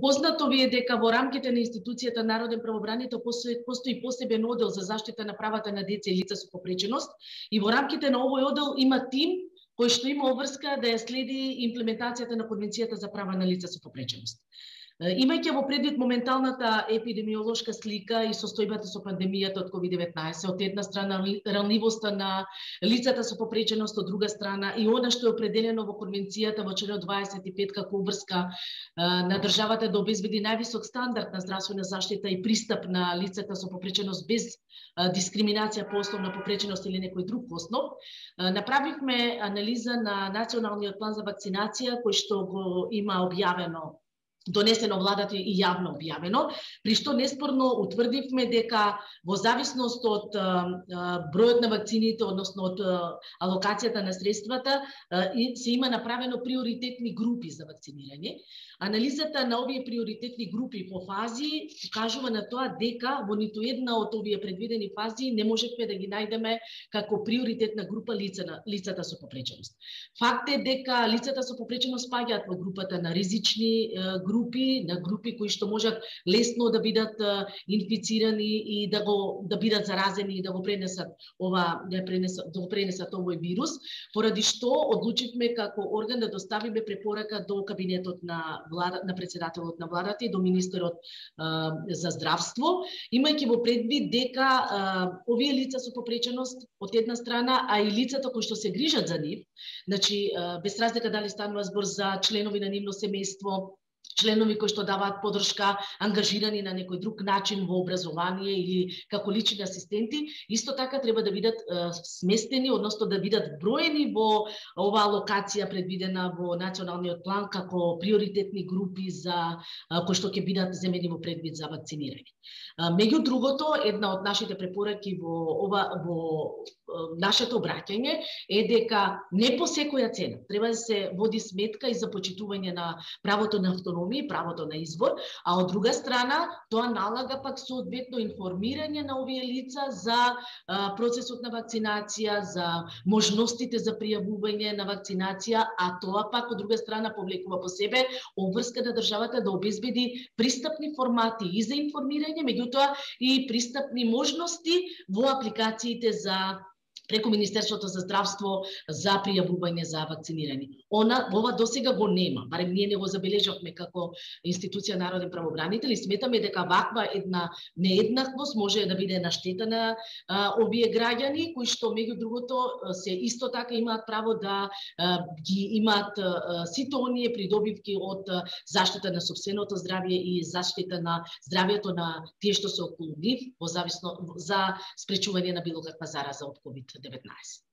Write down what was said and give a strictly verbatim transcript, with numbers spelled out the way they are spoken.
Познато ви е дека во рамките на институцијата Народен правобранител постои, постои посебен одел за заштита на правата на деца и лица со попреченост и во рамките на овој одел има тим кој што има обврска да ја следи имплементацијата на Конвенцијата за права на лица со попреченост. Имајќи во предвид моменталната епидемиолошка слика и состојбата со пандемијата од ковид деветнаесет, од една страна ранливоста на лицата со попреченост, од друга страна и она што е определено во Конвенцијата во член дваесет и пет како обврска на државата да обезбеди највисок стандард на здравствена заштита и пристап на лицата со попреченост без дискриминација по основ на попреченост или некој друг основ, направивме анализа на Националниот план за вакцинација кој што го има објавено донесено владата и јавно објавено, при што неспорно утврдивме дека во зависност од бројот на вакцините, односно од алокацијата на средствата, се има направено приоритетни групи за вакцинирање. Анализата на овие приоритетни групи по фази кажува на тоа дека во ниту една од овие предвидени фази не можевме да ги најдеме како приоритетна група лица на лицата со попреченост. Факт е дека лицата со попреченост спаѓаат во групата на ризични групи, на групи кои што можат лесно да бидат инфицирани и да го да бидат заразени и да го пренесат ова да пренесат да го пренесат овој вирус, поради што одлучивме како орган да доставиме препорака до кабинетот на влада, на председателот на владата и до министерот а, за здравство, имајќи во предвид дека а, овие лица со попреченост од една страна, а и лицата кои што се грижат за нив, значи а, без разлика дали станува збор за членови на нивно семејство, членови кои што даваат подршка, ангажирани на некој друг начин во образование или како лични асистенти, исто така треба да бидат е, сместени, односно да бидат броени во оваа локација предвидена во националниот план како приоритетни групи за е, кои што ќе бидат земени во предвид за вакцинирање. Меѓу другото, една од нашите препораки во ова во нашето обраќање е дека не по секоја цена треба да се води сметка и за почитување на правото на автономија, правото на избор, а од друга страна тоа налага пак соодветно информирање на овие лица за а, процесот на вакцинација, за можностите за пријавување на вакцинација, а тоа пак од друга страна повлекува по себе обврска на државата да обезбеди пристапни формати и за информирање, меѓутоа и пристапни можности во апликациите за преку Министерството за здравство за пријавување за вакцинирање. Она ова досега го нема, барем ние не го забележавме како институција Народен правобранител и сметаме дека ваква една нееднаквост може да биде на штета на а, овие граѓани кои што меѓу другото се исто така имаат право да а, ги имаат а, сите оние придобивки од а, заштита на сопственото здравје и заштита на здравјето на тие што се околу нив во зависно за спречување на било каква зараза од ковид деветнаесет.